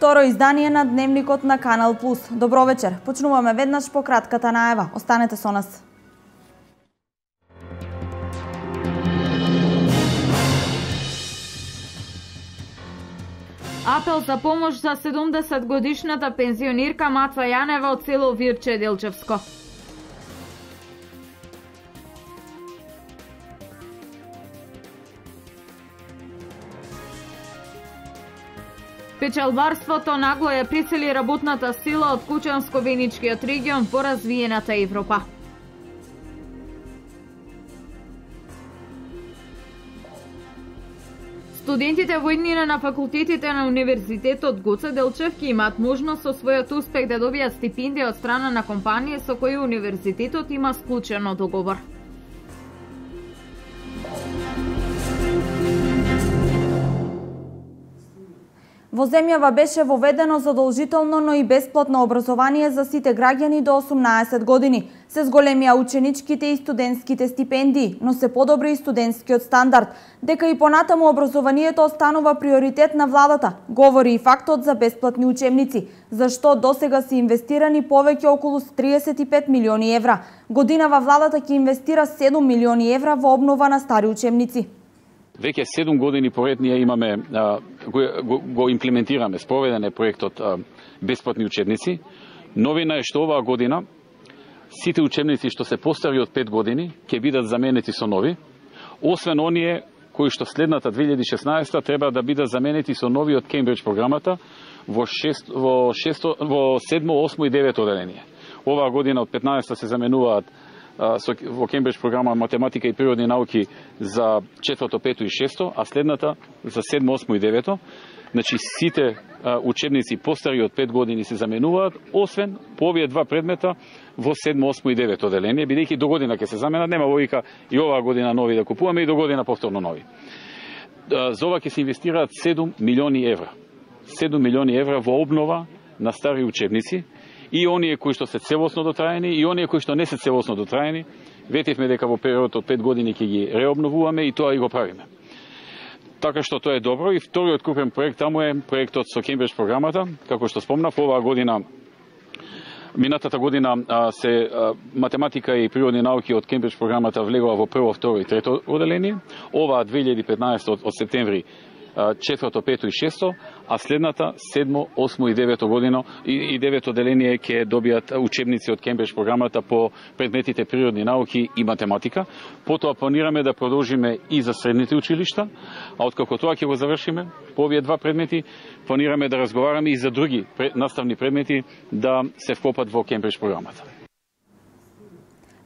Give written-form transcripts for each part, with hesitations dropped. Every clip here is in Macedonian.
второ издание на Дневникот на Канал Плюс. Добро вечер. Почнуваме веднаш по кратката најава. Останете со нас. Апел за помош за 70-годишната пензионирка Маца Јанева од село Вирче Делчевско. Печалбарството нагло ја присели работната сила од Кучанско-Веничкиот регион во развиената Европа. Студентите во иднина на факултетите на Универзитетот Гоце Делчевски имаат можност со својот успех да добијат стипендија од страна на компанија со кои универзитетот има склучено договор. Во земјава беше воведено задолжително, но и бесплатно образование за сите граѓани до 18 години. Се зголемија ученичките и студентските стипендии, но се подобри и студентскиот стандард. Дека и понатаму образованието останува приоритет на владата, говори и фактот за бесплатни учебници, зашто досега се инвестирани повеќе околу 35 милиони евра. Годинава владата ќе инвестира 7 милиони евра во обнова на стари учебници. Веќе 7 години поред ние имаме го имплементираме, спроведен е проектот бесплатни учебници. Новина е што оваа година сите учебници што се постари од 5 години ќе бидат заменети со нови, освен оние кои што следната 2016 треба да бидат заменети со нови од Кембридж програмата во 7, 8 и 9 оделение. Оваа година од 15 се заменуваат во Кембридж програма математика и природни науки за 4, 5 и 6, а следната за 7, 8 и 9. Значи сите учебници постари од 5 години се заменуваат, освен по овие два предмета во 7, 8 и 9 оделение, бидејќи до година ќе се заменат, нема логика и оваа година нови да купуваме и до година повторно нови. За ова ќе се инвестираат 7 милиони евра. 7 милиони евра во обнова на стари учебници, и оние кои што се целосно дотраени, и оние кои што не се целосно дотраени. Ветивме дека во период од 5 години ќе ги реобновуваме и тоа и го правиме. Така што тоа е добро. И вториот крупен проект таму е проектот со Кембридж програмата. Како што спомнав, оваа година, минатата година се математика и природни науки од Кембридж програмата влегува во прво, второ и трето оделение. Оваа 2015 од септември 4, 5 и 6, а следната 7, 8 и 9 година и 9 оделение ќе добијат учебници од Кембридж програмата по предметите природни науки и математика. Потоа планираме да продолжиме и за средните училишта, а откако тоа ќе го завршиме по овие два предмети, планираме да разговараме и за други наставни предмети да се вкопат во Кембридж програмата.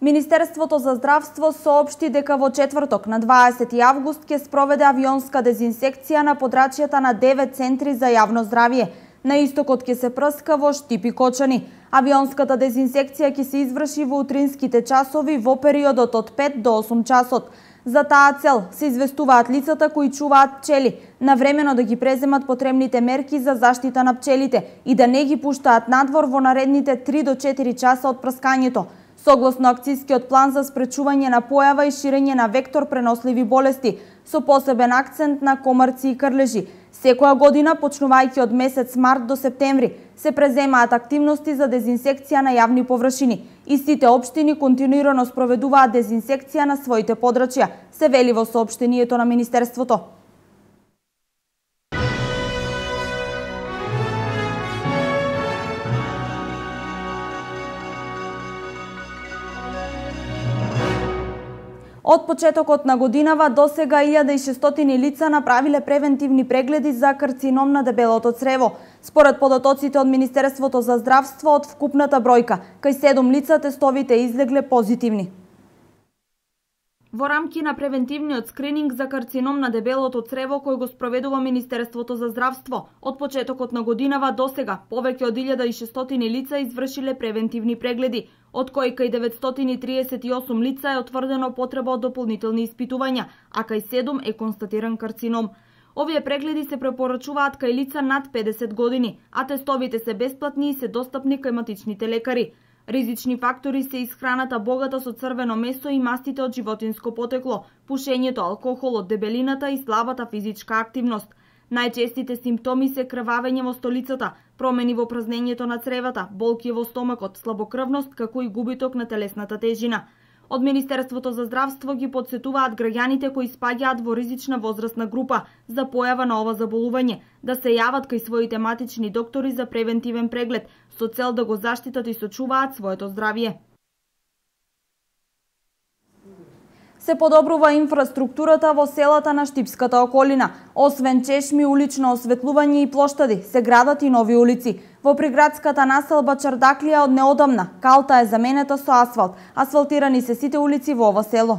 Министерството за здравство соопшти дека во четврток на 20 август ќе спроведе авионска дезинсекција на подрачјата на 9 центри за јавно здравје. На истокот ќе се прска во Штип и Кочани. Авионската дезинсекција ќе се изврши во утринските часови во периодот од 5 до 8 часот. За таа цел се известуваат лицата кои чуваат пчели, навремено да ги преземат потребните мерки за заштита на пчелите и да не ги пуштаат надвор во наредните 3 до 4 часа од прскањето. Согласно акцијскиот план за спречување на појава и ширење на вектор преносливи болести, со посебен акцент на комарци и крлежи. Секоја година, почнувајќи од месец март до септември, се преземаат активности за дезинсекција на јавни површини. И сите општини континуирано спроведуваат дезинсекција на своите подрачја, се вели во соопштението на Министерството. Од почетокот на годинава до сега 1600 лица направиле превентивни прегледи за карцином на дебелото црево. Според податоците од Министерството за здравство, од вкупната бројка, кај 7 лица тестовите излегле позитивни. Во рамки на превентивниот скрининг за карцином на дебелото црево кој го спроведува Министерството за здравство, од почетокот на годинава до сега повеќе од 1600 лица извршиле превентивни прегледи, од кои кај 938 лица е утврдено потреба од дополнителни испитувања, а кај 7 е констатиран карцином. Овие прегледи се препорачуваат кај лица над 50 години, а тестовите се бесплатни и се достапни кај матичните лекари. Ризични фактори се исхраната богата со црвено месо и мастите од животинско потекло, пушењето, алкохолот, дебелината и слабата физичка активност. Најчестите симптоми се крвавење во столицата, промени во празнењето на цревата, болки во стомакот, слабокрвност, како и губиток на телесната тежина. Од Министерството за здравство ги подсетуваат граѓаните кои спаѓаат во ризична возрастна група за појава на ова заболување, да се јават кај своите матични доктори за превентивен преглед, со цел да го заштитат и сочуваат своето здравје. Се подобрува инфраструктурата во селата на Штипската околина. Освен чешми, улично осветлување и плоштади, се градат и нови улици. Во приградската населба Чардаклија од неодамна, калта е заменета со асфалт. Асфалтирани се сите улици во ова село.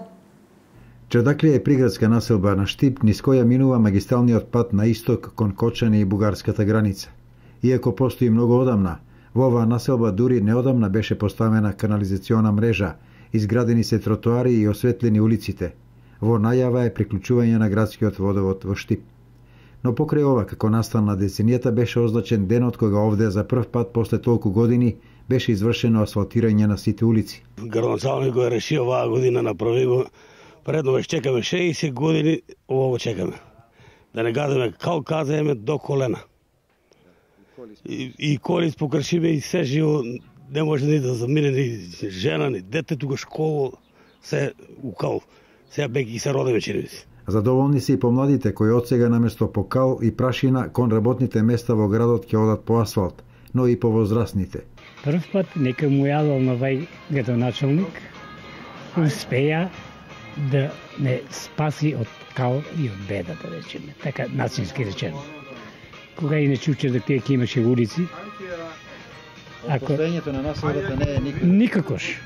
Чардаклија е приградска населба на Штип, низ која минува магистралниот пат на исток кон Кочани и бугарската граница. Иако постои многу одамна, во оваа населба дури неодамна беше поставена канализациона мрежа, изградени се тротоари и осветлени улиците. Во најава е приклучување на градскиот водовод во Штип. Но покрај ова, како настана деценијата, беше означен денот кога овде за прв пат после толку години беше извршено асфалтирање на сите улици. Градоначалник го реши оваа година, направи го. Предно веќе чекаме 60 години, ово чекаме. Да не газеме кал каземе до колена. И колис покршиме и се живо, не може ни да замине ни жена, ни дете, тука школа, се укал. Сега беки се родиме черевици. Задоволни се и помладите кои од сега наместо по кал и прашина кон работните места во градот ќе одат по асфалт, но и по возрастните. Прв пат нека му јавал на вај градоначалник, успеја да не спаси од кал и од беда, да речеме, така нацински речено. Кога иначе Чардаклија ќе имаше улици, Постоењето на населбата не е никакош.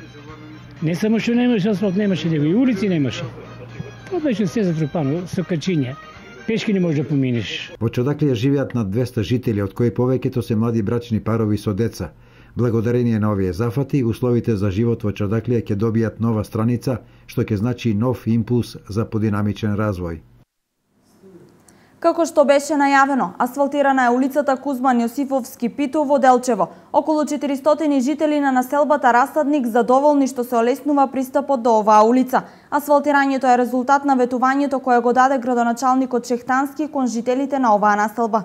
Не само што немаше асфалт, немаше него и улици немаше. Тоа беше се затрупано со качиња. Пешки не можеш да поминеш. Во Чардаклија живеат над 200 жители, од кои повеќето се млади брачни парови со деца. Благодарение на овие зафати, условите за живот во Чардаклија ќе добијат нова страница, што ќе значи нов импулс за подинамичен развој. Како што беше најавено, асфалтирана е улицата Кузман Јосифовски Питу во Делчево. Околу 400 жители на населбата Расадник задоволни што се олеснува пристапот до оваа улица. Асфалтирањето е резултат на ветувањето кое го даде градоначалникот Шехтански кон жителите на оваа населба.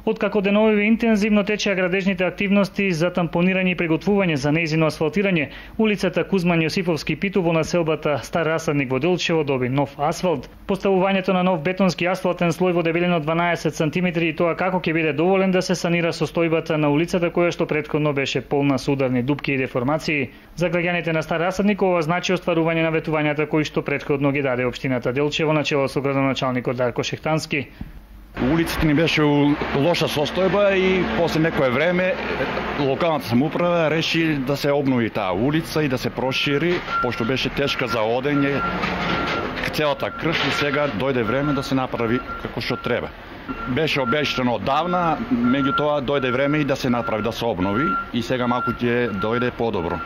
Откако денови интензивно течеа градежните активности за тампонирање и приготвување за нејзино асфалтирање, улицата Кузман Јосифовски Питу во населбата Стар Расадник во Делчево доби нов асфалт. Поставувањето на нов бетонски асфалтен слој во дебелина 12 см и тоа како ќе биде доволен да се санира состојбата на улицата која што претходно беше полна со ударни дупки и деформации. За граѓаните на Стар Расадник ова значи остварување на ветувањата кои што претходно ги даде општината Делчево на чело со градоначалникот Дарко Шехтански. Улицата ни беше у лоша состојба и после некое време локалната самоуправа реши да се обнови таа улица и да се прошири, пошто беше тешка за одење целата крш и сега дојде време да се направи како што треба. Беше обештено одавна, меѓутоа дојде време и да се направи, да се обнови и сега малку ќе дојде подобро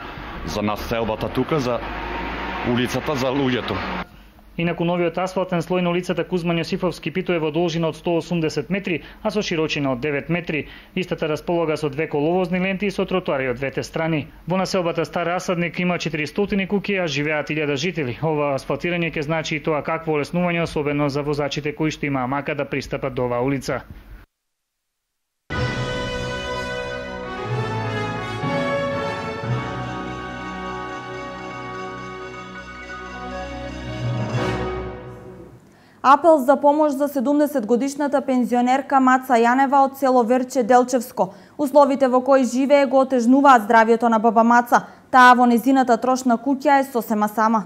за населбата тука, за улицата, за луѓето. Инаку новиот асфалтен слој на улицата Кузман Јосифовски Питу е во должина од 180 метри, а со широчина од 9 метри. Истата располага со две коловозни ленти и со тротоари од двете страни. Во населбата Стар Расадник има 400 куќи, а живеат 1000 жители. Ова асфалтирање ќе значи и тоа какво олеснување, особено за возачите кои што имаа мака да пристапат до оваа улица. Апел за помош за 70-годишната пензионерка Маца Јанева од село Верче Делчевско. Условите во кои живее го отежнуваат здравјето на баба Маца. Таа во незината трошна куќа е сосема сама.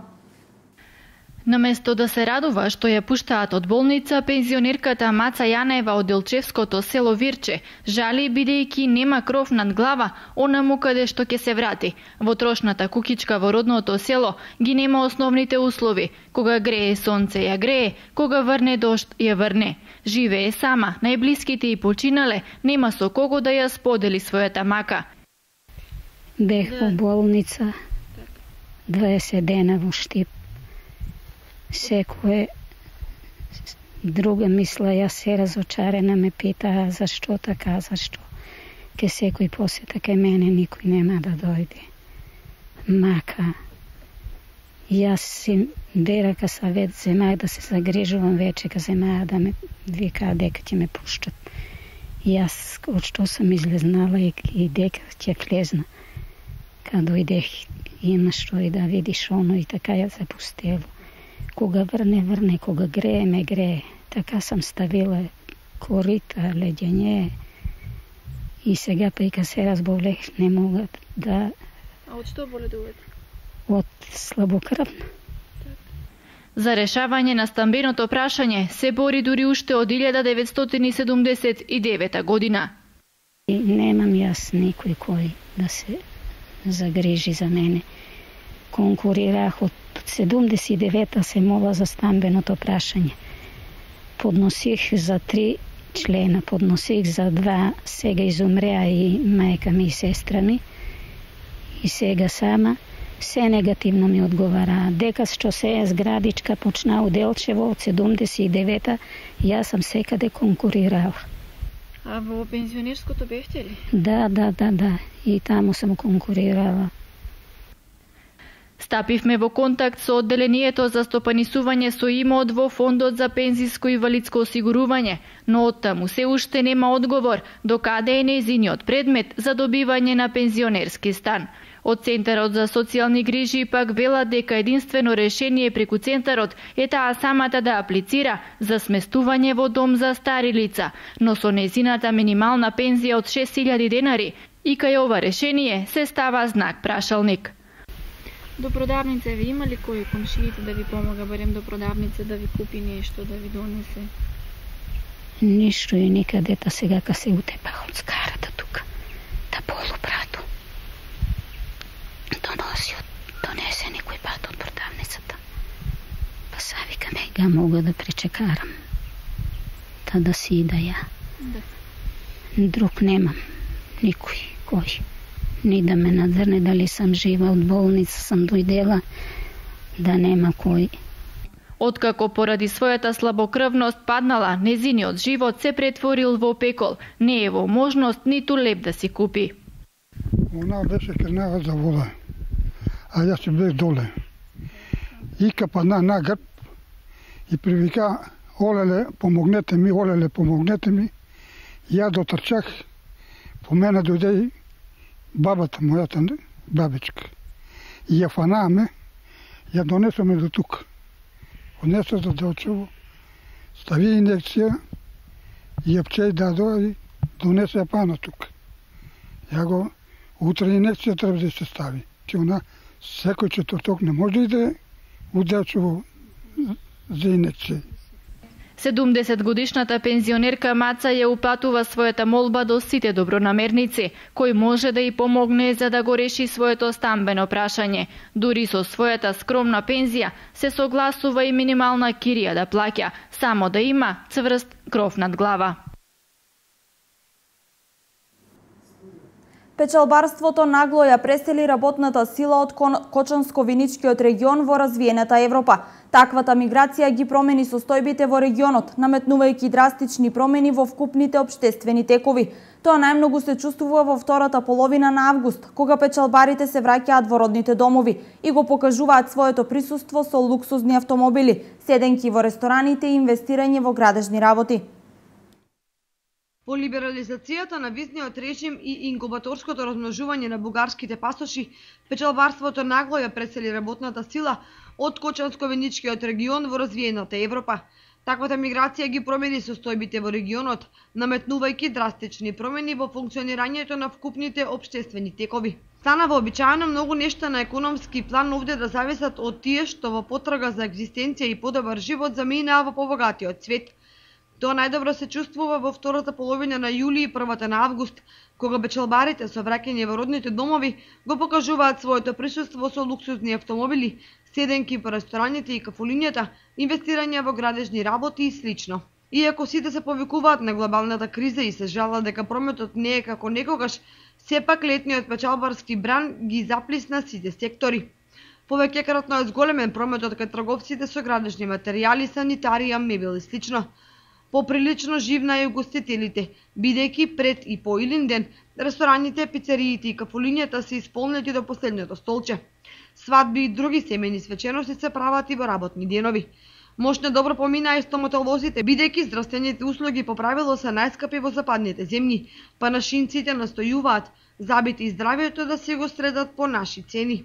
Наместо да се радува што ја пуштаат од болница, пензионерката Маца Јанева од Делчевското село Вирче жали бидејќи нема кров над глава онаму каде што ќе се врати. Во трошната кукичка во родното село ги нема основните услови. Кога грее сонце ја грее, кога врне дожд ја врне. Живее сама, најблиските и починале, нема со кого да ја сподели својата мака. Бех во болница 20 дена во Штип. Секој друга мисла, јас се разочарена, ме питаа зашто така, зашто ке секој посета кај мене, никој нема да дојде. Мака Јас си бера ка савет земаја да се загрижувам вече ка земаја да ме вика дека ќе ме пуштат. Јас од што сам излезнала и дека ќе влезна. Кога дојдех има што и да видиш оно и така ја запустело. Кога врне, кога грее, ме грее. Така сам ставила корита, леѓење. И сега па и ка се разболех, не мога да... А од што боледувате? Од слабокрвна. За решавање на стамбеното прашање се бори дури уште од 1979 година. И немам јас никој кој да се загрижи за мене. Конкурирах од 79-та се мола за стамбеното прашање. Подносих за 3 члена, подносих за 2, сега изумреа и мајка ми и сестра ми. И сега сама се негативно ми одговара. Дека што се е зградичка почна у Делчево од 79-та, јас сам секаде конкурирала. А во пензионерското бевте ли? Да. И таму сам конкурирала. Стапивме во контакт со одделението за стопанисување со имот во Фондот за пензиско и инвалидско осигурување, но оттаму се уште нема одговор до каде е нејзиниот предмет за добивање на пензионерски стан. Од Центарот за социјални грижи пак велат дека единствено решение преку Центарот е таа самата да аплицира за сместување во дом за стари лица, но со нејзината минимална пензија од 6000 денари и кај ова решение се става знак прашалник. До продавница ви има ли кој комшиите да ви помага, барем до продавница да ви купи нешто, да ви донесе? Ништо и никаде, та сега ка се утепах од скарата тука, та полупрато. Донесе некој пат од продавницата. Па са викаме, га мога да пречекарам. Та да си ида ја. Да. Друг немам, никој, кој. Ни да ме надзрне дали сам жива, од болница сам дојдела, да нема кој. Откако поради својата слабокрвност паднала, незиниот живот се претворил во пекол. Не е во можност ниту леп да си купи. Она беше кренава за вода, а јас си бех доле. И капана на грб и привика, олеле, помогнете ми, Ја дотрчах, по мене дојде и бабата, мојата бабичка. И ја фанааме, ја донесоме до тук. Однесо за Делчево, стави инекција, и ја пчеј дадо и донесе ја пана тук. Ја го, утре инекција треба да се стави. Че она, секој четврток не може да иде у Делчево за инекција. 70-годишната пензионерка Маца ја упатува својата молба до сите добронамерници, кој може да ја помогне за да го реши своето стамбено прашање. Дури со својата скромна пензија се согласува и минимална кирија да плаќа, само да има цврст кров над глава. Печалбарството нагло ја пресели работната сила од Кочанско-Виничкиот регион во развиената Европа. Таквата миграција ги промени состојбите во регионот, наметнувајќи драстични промени во вкупните општествени текови. Тоа најмногу се чувствува во втората половина на август, кога печалбарите се враќаат во родните домови и го покажуваат своето присуство со луксузни автомобили, седенки во рестораните и инвестирање во градежни работи. По либерализацијата на визниот режим и инкубаторското размножување на бугарските пасоши, печалбарството нагло ја пресели работната сила од Кочанско-Виничкиот регион во развиената Европа. Таквата миграција ги промени состојбите во регионот, наметнувајќи драстични промени во функционирањето на вкупните општествени текови. Стана вообичаено многу нешта на економски план овде да зависат од тие што во потрага за екзистенција и подобар живот заминаа во побогатиот свет. Тоа најдобро се чувствува во втората половина на јули и првата на август, кога печалбарите со враќање во родните домови го покажуваат своето присуство со луксузни автомобили, седенки по рестораните и кафулињата, инвестирање во градежни работи и слично. Иако сите се повикуваат на глобалната криза и се жалат дека прометот не е како некогаш, сепак летниот печалбарски бран ги заплисна сите сектори. Повеќекратно е зголемен прометот кај трговците со градежни материјали, санитарија, мебел и слично. Поприлично живна е угостителите, бидејќи пред и по Илинден, рестораните, пицериите и кафулињата се исполнети до последното столче. Свадби и други семејни свечености се прават и во работни денови. Мошне добро поминаа и стоматолозите, бидејќи здравствените услуги по правило се најскапи во западните земји, па нашинците настојуваат забите и здравието да се го средат по наши цени.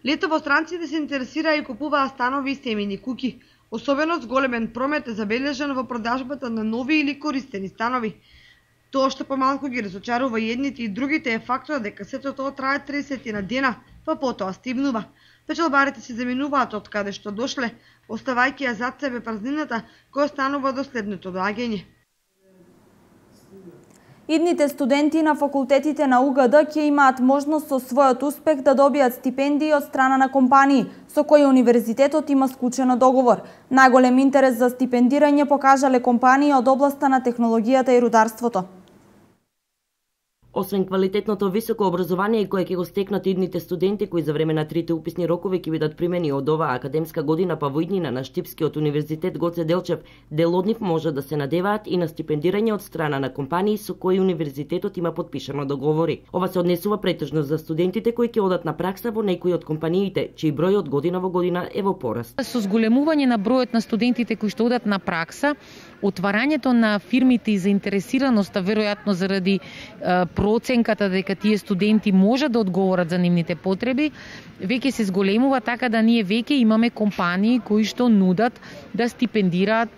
Летово странците се интересираа и купуваа станови и семејни куќи. Особено зголемен промет е забележан во продажбата на нови или користени станови. Тоа што помалку ги разочарува и едните и другите е фактот дека сето тоа трае 30 на дена, па потоа стивнува. Печалбарите се заминуваат од каде што дошле, оставајќи ја зад себе празнината која станува до следното доаѓање. Идните студенти на факултетите на УГД ќе имаат можност со својот успех да добијат стипендии од страна на компании, со кои универзитетот има склучено договор. Најголем интерес за стипендирање покажале компании од областа на технологијата и рударството. Освен квалитетното високо образование кое ќе го стекнат идните студенти кои за време на трите уписни рокови ќе бидат примени од оваа академска година па во иднина на Штипскиот универзитет Гоце Делчев, дел од нив може да се надеваат и на стипендирање од страна на компании со кои универзитетот има подпишано договори. Ова се однесува претежно за студентите кои ќе одат на пракса во некои од компаниите, чиј број од година во година е во пораст. Со зголемување на бројот на студентите кои што одат на пракса, отварањето на фирмите и заинтересираноста веројатно заради проценката дека тие студенти може да одговорат за нивните потреби, веќе се зголемува, така да ние веќе имаме компании кои што нудат да стипендираат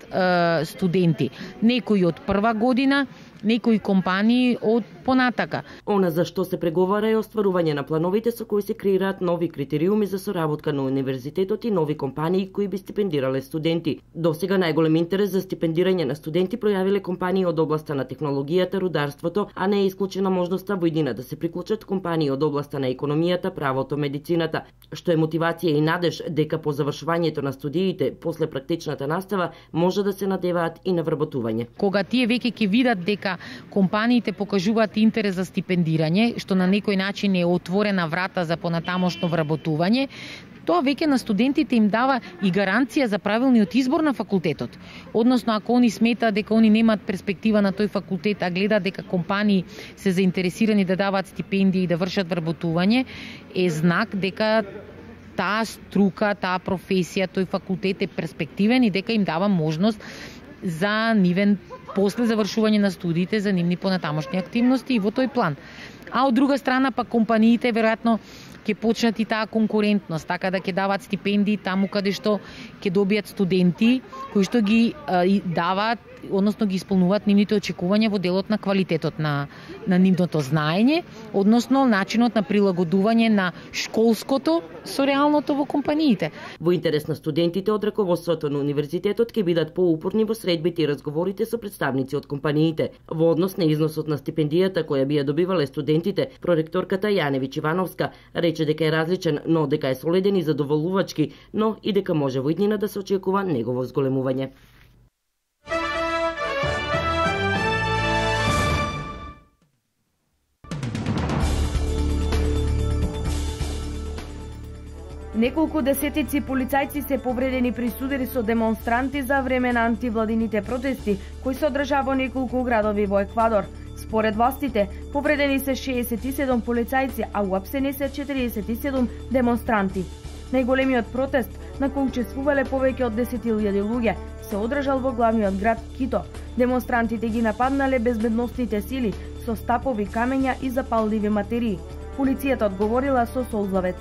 студенти. Некои од прва година, некои компании од понатака. Она за што се преговара е остварување на плановите со кои се креираат нови критериуми за соработка на универзитетот и нови компании кои би стипендирале студенти. Досега најголем интерес за стипендирање на студенти пројавиле компании од областа на технологијата, рударството, а не е исклучена можноста во иднина да се приклучат компании од областа на економијата, правото, медицината, што е мотивација и надеж дека по завршувањето на студиите, после практичната настава, може да се надеваат и на вработување. Кога тие веќе ќе видат дека компаниите покажуваат интерес за стипендирање, што на некој начин е отворена врата за понатамошно вработување, тоа веќе на студентите им дава и гаранција за правилниот избор на факултетот. Односно, ако они сметаат дека они немаат перспектива на тој факултет, а гледаат дека компании се заинтересирани да даваат стипендии и да вршат вработување, е знак дека таа струка, таа професија, тој факултет е перспективен и дека им дава можност за нивен после завршување на студиите за нивни понатамошни активности и во тој план. А од друга страна па компаниите веројатно ќе почнат и таа конкурентност, така да ќе даваат стипендии таму каде што ќе добијат студенти кои што ги даваат, односно ги исполнуваат нивните очекувања во делот на квалитетот на нивното знаење, односно начинот на прилагодување на школското со реалното во компаниите. Во интерес на студентите од раководството на универзитетот ќе бидат поупорни во средбите и разговорите со представници од компаниите. Во однос на износот на стипендијата која би ја добивале студентите, проректорката Јаневич Ивановска рече дека е различен, но дека е солиден и задоволувачки, но и дека може во иднина да се очекува негово зголемување. Неколку десетици полицајци се повредени при судари со демонстранти за време на антивладините протести кои се одржаа во неколку градови во Еквадор. Според властите, повредени се 67 полицајци, а уапсени се 47 демонстранти. Најголемиот протест, на кој учествувале повеќе од 10.000 луѓе, се одржал во главниот град Кито. Демонстрантите ги нападнале безбедносните сили со стапови, камења и запалливи материи. Полицијата одговорила со солзавец.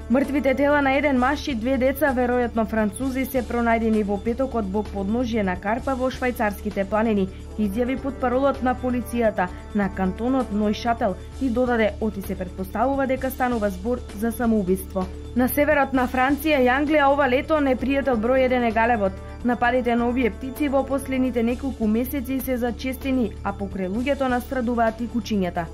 Мртвите тела на еден маж и две деца, веројатно французи, се пронајдени во петокот во подножје на Карпа во швајцарските планини, изјави потпаролот на полицијата на кантонот Нојшател и додаде оти се претпоставува дека станува збор за самоубиство. На северот на Франција и Англија ова лето непријател број 1 е галебот. Нападите на овие птици во последните неколку месеци се зачестени, а покрај луѓето настрадуваат и кучињата.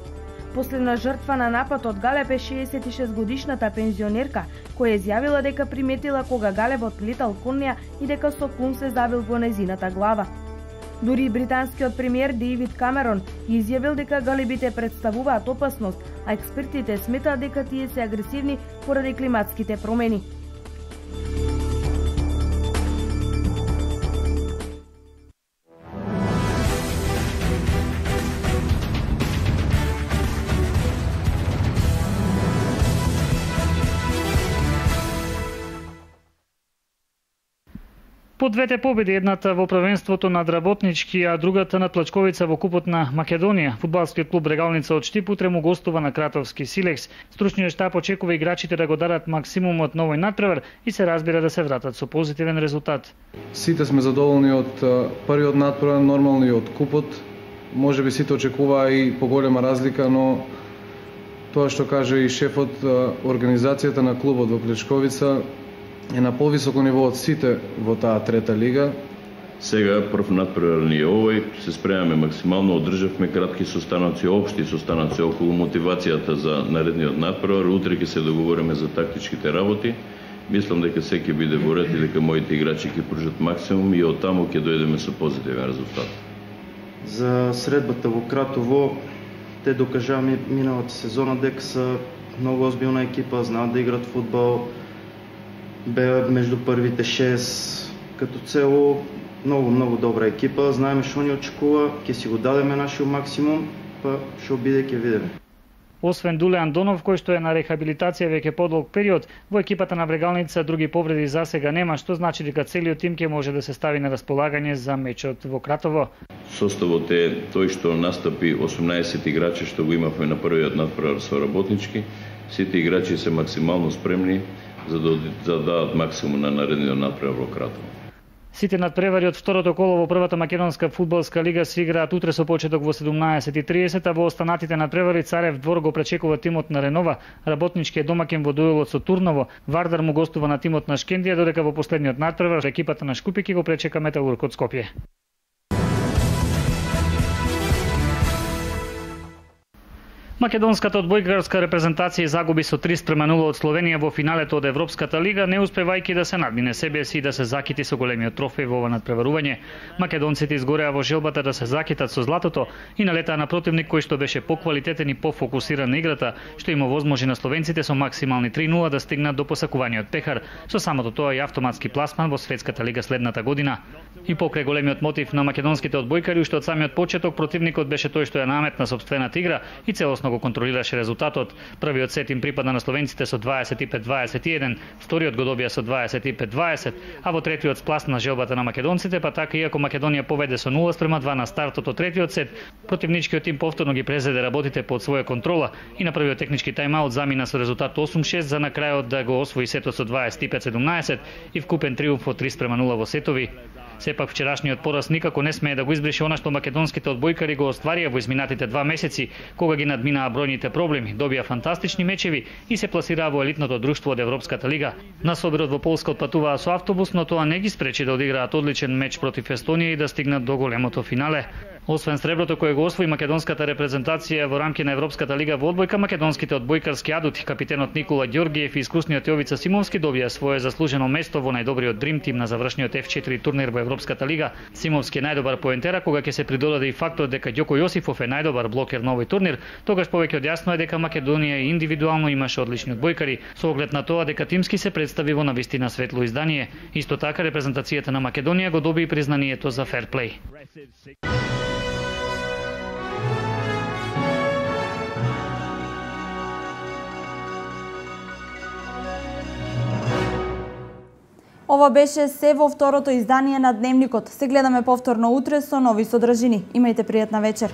Последна жртва на нападот галеб е 66-годишната пензионерка, која изјавила дека приметила кога галебот летал кон неа и дека со клун се забил во незината глава. Дури британскиот премиер Дејвид Камерон изјавил дека галебите представуваат опасност, а експертите сметаат дека тие се агресивни поради климатските промени. По двете победи, едната во првенството над Работнички, а другата над Плачковица во купот на Македонија, фудбалскиот клуб Регалница од Штип утре му гостува на Кратовски Силекс. Стручниот штаб очекува играчите да го дадат максимумот на овој натпревар и се разбира да се вратат со позитивен резултат. Сите сме задоволни од првиот натпревар, нормално и од купот. Може би сите очекуваа и поголема разлика, но тоа што каже и шефот, организацијата на клубот во Плачковица е на повисоко ниво од сите во таа трета лига. Сега прв натпревар ни е овој, се спремаме максимално, одржавме кратки состаноци, општи состаноци околу мотивацијата за наредниот натпревар. Утре ќе се договориме за тактичките работи. Мислам дека се ќе биде во ред и дека моите играчи ќе пружат максимум и од таму ќе дојдеме со позитивен резултат. За средбата во Кратово, те докажаа миналата сезона дека се многу озбилна екипа, знаат да играат фудбал, беа меѓу првите 6, като цело многу добра екипа, знаеме што ни очекува, ќе си го дадеме нашиот максимум, па што биде ќе видиме. Освен Дуле Андонов, кој што е на рехабилитација веќе подолг период, во екипата на Врегалница други повреди за сега нема, што значи дека целиот тим ќе може да се стави на располагање за мечот во Кратово. Составот е тој што настапи 18 играчи што го имавме на првиот натпревар со Работнички. Сите играчи се максимално спремни за да дадат максимум на наредниот натпревар во Кратово. Сите надпревари од второто коло во првата македонска фудбалска лига се играат утре со почеток во 17:30, а во останатите надпревари Царев двор го пречекува тимот на Ренова, Работнички е домаќин во дуелот со Турново, Вардар му гостува на тимот на Шкендија, додека во последниот надпревар екипата на Шкупики го пречека Металург од Скопје. Македонската одбојкарска репрезентација загуби со 3:0 од Словенија во финалето од Европската лига, не успевајќи да се надмине себе си и да се закити со големиот трофеј во ова надпреварување. Македонците изгореа во желбата да се закитат со златото и налетаа на противник кој што беше поквалитетен и пофокусиран на играта, што им овозможи на словенците со максимални 3:0 да стигнат до посакуваниот пехар, со самото тоа и автоматски пласман во Светската лига следната година. И покрај големиот мотив на македонските одбојкари, уште од самиот почеток противникот беше тој што ја наметна сопствената игра и целосно го контролираше резултатот. Првиот сет им припада на словенците со 25-21, вториот го добија со 25-20, а во третиот спласна желбата на македонците, па така иако Македонија поведе со 0:2 на стартот од третиот сет, противничкиот тим повторно ги презеде работите под своја контрола и на првиот технички тајмаут замина со резултат 8-6 за на крајот да го освои сетот со 25-17 и вкупен триумф од 3:0 во сетови. Сепак вчерашниот пораз никако не смее да го избрише она што македонските одбојкари го остварија во изминатите 2 месеци, кога ги надминаа бројните проблеми, добија фантастични мечеви и се пласираа во елитното друштво од Европската лига. На собирот во Полска отпатуваа со автобус, но тоа не ги спречи да одиграат одличен меч против Естонија и да стигнат до големото финале. Освен среброто кое го освои македонската репрезентација во рамки на Европската лига во одбојка, македонските одбојкарски адути, капитенот Никола Ѓоргиев и искусниот Јовица Симовски добија свое заслужено место во најдобриот дрим тим на завршниот F4 турнир во Европската лига. Симовски е најдобар поентера, кога ќе се придодаде и фактот дека Ѓоко Јосифов е најдобар блокер на овој турнир, тогаш повеќе од јасно е дека Македонија индивидуално имаше одлични одбојкари, со оглед на тоа дека тимски се представи во навистина светло издание. Исто така репрезентацијата на Македонија го доби и признанието за ферплей. Ова беше се во второто издание на Дневникот. Се гледаме повторно утре со нови содржини. Имајте пријатна вечер.